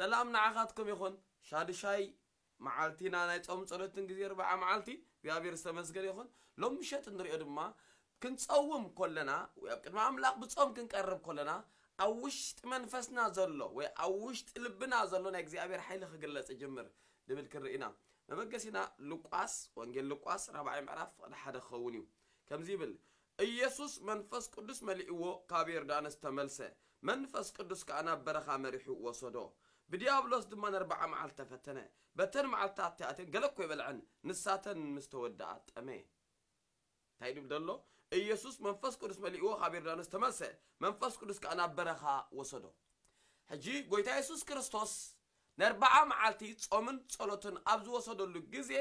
ሰላም ንዓኻትኩም ይኹን። ሻድሻይ መዓልቲና ናይ ጾም ጸሎትን ግዜ ኣርብዓ መዓልቲ እግዚኣብሔር ዝተመስገነ ይኹን። ሎም ምሸት እንሪኦ ድማ ክንጸውም ኮለና ወይ ኣብ ቅድሚ ኣምላኽ ብጾም ክንቀርብ ኮለና ኣብ ውሽጢ መንፈስና ዘሎ ወይ ኣብ ውሽጢ ልብና ዘሎ ናይ እግዚኣብሔር ሓይሊ ክግለጽ ይጅምር ድብል ክንርኢ ኢና። መበገሲና ሉቃስ፣ ወንጌል ሉቃስ ራብዓይ ምዕራፍ ፍቕዲ ሓደ ክኸውን እዩ። ከምዚ ይብል፣ ኢየሱስ መንፈስ ቅዱስ መሊእዎ ካብ ዮርዳኖስ ተመልሰ። መንፈስ ቅዱስ ከኣ ናብ በረኻ መሪሑ ወሰዶ። ብዲያብሎስ ድማ ነርብዓ መዓልቲ ተፈተነ። በተን መዓልትታት እቲኣተን ገለ እኮ ኣይበልዐን፣ ንሳተን ምስ ተወድኣ ጠመየ። እንታይ ድብል ዘሎ? ኢየሱስ መንፈስ ቅዱስ መሊእዎ ካብ ዮርዳኖስ ተመልሰ። መንፈስ ቅዱስ ከኣ ናብ በረኻ ወሰዶ። ሕጂ ጎይታ የሱስ ክርስቶስ ነርብዓ መዓልቲ ጾምን ጸሎትን ኣብ ዝወሰደሉ ግዜ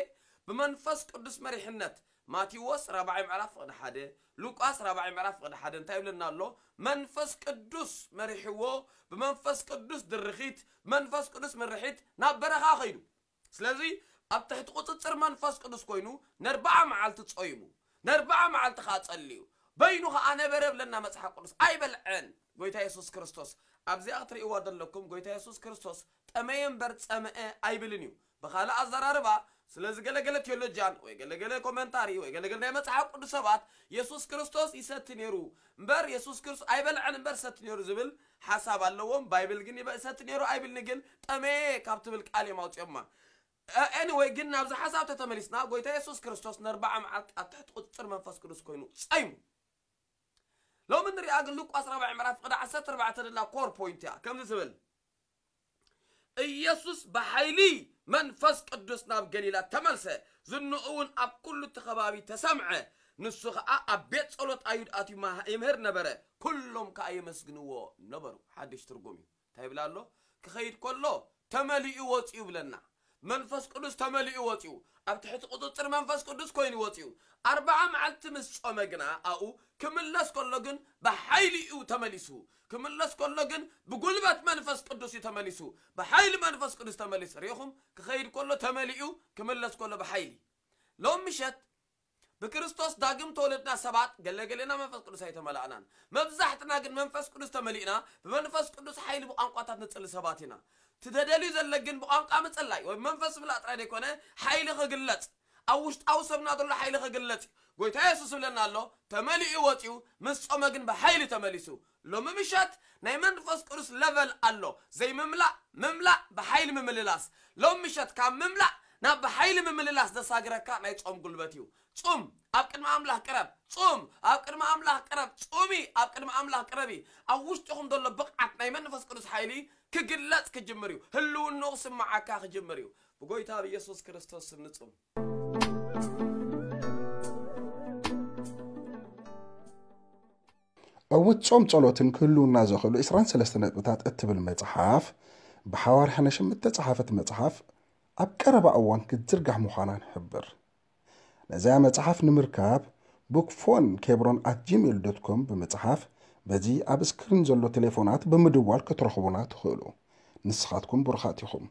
ብመንፈስ ቅዱስ መሪሕነት ማቴዎስ ራብዓይ ምዕራፍ ፍቕዲ ሓደ፣ ሉቃስ ራብዓይ ምዕራፍ ፍቕዲ ሓደ እንታይ ይብለና ኣሎ? መንፈስ ቅዱስ መሪሕዎ፣ ብመንፈስ ቅዱስ ድርኺት፣ መንፈስ ቅዱስ ምርሒት ናብ በረኻ ኸይዱ። ስለዚ ኣብ ትሕቲ ቁጽጽር መንፈስ ቅዱስ ኮይኑ ነርብዓ መዓልቲ ጾይሙ፣ ነርብዓ መዓልቲ ኸዓ ጸልዩ፣ በይኑ ኸዓ ነበረ ብለና መጽሓፍ ቅዱስ። ኣይበልዐን ጎይታ የሱስ ክርስቶስ። ኣብዚኣ ክትርእይዋ ዘለኩም ጎይታ የሱስ ክርስቶስ ጠመየ እምበር ጸምአ ኣይብልን እዩ። ብኻልእ ኣዘራርባ ስለዚ ገለገለ ቴዎሎጂያን ወይ ገለገለ ኮመንታሪ ወይ ገለገለ ናይ መጽሓፍ ቅዱስ ሰባት የሱስ ክርስቶስ ይሰቲ ነይሩ እምበር የሱስ ክርስቶስ ኣይበልዐን እምበር ሰቲ ነይሩ ዝብል ሓሳብ ኣለዎም። ባይብል ግን ይበ- ይሰቲ ነይሩ ኣይብልኒ ግን ጠመየ ካብ ትብል ቃል እዮም ኣውፅኦማ። ኤኒወይ ግን ናብዚ ሓሳብ ተተመሊስና ጎይታ የሱስ ክርስቶስ ነርብዓ መዓልቲ ኣብ ትሕቲ ቁፅፅር መንፈስ ቅዱስ ኮይኑ ጸይሙ። ሎሚ ንሪኣ ግን ሉቃስ ራብዓይ ምዕራፍ ፍቕዲ ዓሰርተ ኣርባዕተ ደላ ኮር ፖይንት እያ ከምዚ ትብል ኢየሱስ ብሓይሊ መንፈስ ቅዱስ ናብ ገሊላ ተመልሰ። ዝንኡ እውን ኣብ ኩሉ እቲ ከባቢ ተሰምዐ። ንሱ ኸዓ ኣብ ቤት ጸሎት ኣይሁድ ኣትዩ ይምሃ- ይምህር ነበረ። ኩሎም ከኣ የመስግንዎ ነበሩ። ሓድሽ ትርጉም እዩ። እንታይ ይብል ኣሎ? ክኸይድ ከሎ ተመሊኡ ወፂኡ ብለና። መንፈስ ቅዱስ ተመሊኡ ወፂኡ። ኣብ ትሕቲ ቁፅፅር መንፈስ ቅዱስ ኮይኑ ወፂኡ። ኣርብዓ መዓልቲ ምስ ጾመ ግና ኣብኡ ክምለስ ከሎ ግን ብሓይሊ እዩ ተመሊሱ። ክምለስ ከሎ ግን ብጉልበት መንፈስ ቅዱስ እዩ ተመሊሱ። ብሓይሊ መንፈስ ቅዱስ ተመሊሱ። ሪኢኹም? ክኸይድ ከሎ ተመሊኡ፣ ክምለስ ከሎ ብሓይሊ። ሎም ምሸት ብክርስቶስ ዳግም ተወለድና ሰባት ገለገሌና መንፈስ ቅዱስ ኣይተመላእናን። መብዛሕትና ግን መንፈስ ቅዱስ ተመሊእና ብመንፈስ ቅዱስ ሓይሊ ብቋንቋታት ንጽሊ ሰባት ኢና። ትደደልዩ ዘለ ግን ብቋንቋ ምጽላይ ወይ መንፈስ ምላእ ጥራይ ዘይኮነ ሓይሊ ክግለጽ ኣብ ውሽጣዊ ሰብና ዘሎ ሓይሊ ክግለጽ እዩ። ጎይታ የሱስ ይብለና ኣሎ ተመሊኡ ወፂኡ ምስ ጾመ ግን ብሓይሊ ተመሊሱ። ሎሚ ምሸት ናይ መንፈስ ቅዱስ ለቨል ኣሎ። ዘይምምላእ ምምላእ ብሓይሊ ምምልላስ። ሎሚ ምሸት ካብ ምምላእ ናብ ብሓይሊ ምምልላስ ዘሳግረካ ናይ ጾም ጉልበት እዩ። ጹም ኣብ ቅድሚ ኣምላኽ ቅረብ። ጹም ኣብ ቅድሚ ኣምላኽ ቅረብ። ጹሚ ኣብ ቅድሚ ኣምላኽ ቅረቢ። ኣብ ውሽጥኹም ዘሎ ብቕዓት ናይ መንፈስ ቅዱስ ሓይሊ ክግለጽ ክጅምር እዩ። ህልውንኡ ክስምዓካ ክጅምር እዩ። ብጎይታ ብኢየሱስ ክርስቶስ ስም ንጹም። ዕውት ጾም ጸሎትን ክህልውና ዘኽእሉ ዕስራን ሰለስተ ነጥብታት እትብል መጽሓፍ ብሓዋርያ ነሽም እተጸሓፈት መጽሓፍ ኣብ ቀረባ እዋን ክትዝርጋሕ ምዃና ንሕብር። ነዚኣ መጽሓፍ ንምርካብ bookphone kebron at gmail dot com ብምጽሓፍ በዚ ኣብ ስክሪን ዘሎ ቴሌፎናት ብምድዋል ክትረኽቡና ትኽእሉ። ንስኻትኩም ብሩኻት ኢኹም።